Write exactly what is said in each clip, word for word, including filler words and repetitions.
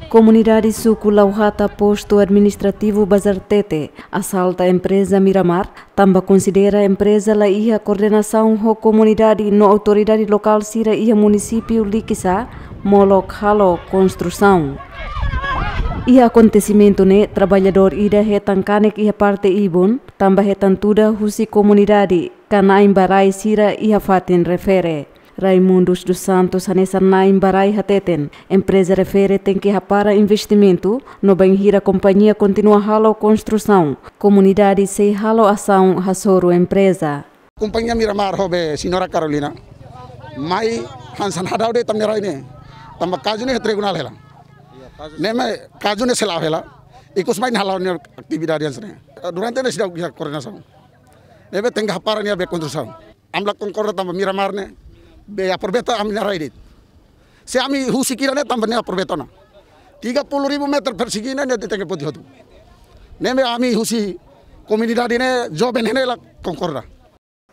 Komunidade suku Lauhata, postu administrativu Bazartete, asalta empreza Miramar, tanba konsidera empreza la iha koordenasaun ho komunidade no autoridade lokál sira iha munisípiu Likisá, molok halo konstrusaun. Iha akontesimentu ne'e, traballadór ida hetan kanek iha parte ibun, tanba hetan tuda husi komunidade ka na'in ba rai sira iha fatin refere. Raimundos dos Santos hanesan na'in ba rai hateten, empreza refere tenke hapara investimentu, no bainhira kompañia kontinua halo konstrusaun, komunidade sei halo asaun hasoru empreza. Kompañia Miramar ho be señora Carolina mai hanesan hadau de'it ami-nia rai ne'e. Tanba kazu ne'e tribunál hela. Ne'e mak kazu ne'e sei la'o hela. Ikus mai ne'e hala'o nia atividade hanesan ne'e. Durante ne'e seidauk iha koordenasaun. Ne'ebé tenke hapara nia be konstrusaun. Ami la konkorda tanba Miramar ne'e be aproveita ami-nia rai de'it. Se ami husik ida ne'e tanba nia aproveita ona. Tiga puluh ribu meter persegi ne'e, ne'e tenke poti hotu. Ne'ebé ami husi komunidade ne'e, joven ne'e la konkorda.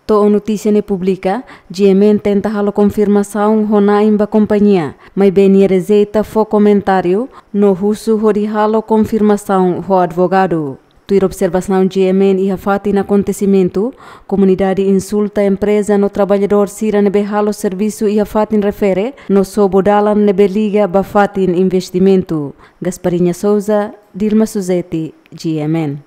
To'o notísia ne'e publika, G M N tenta halo konfirmasaun ho na'in ba kompañia, maibé nia rejeita fó komentáriu, no husu hodi halo konfirmasaun ho advogadu. Tuir observasaun G M N iha fatin akontesimentu, komunidade insulta empreza no traballadór sira ne'ebé halo servisu iha fatin refere, no sobu dalan ne'ebé liga ba fatin investimentu. Gasparinha Souza, Dilma Suzeti, G M N.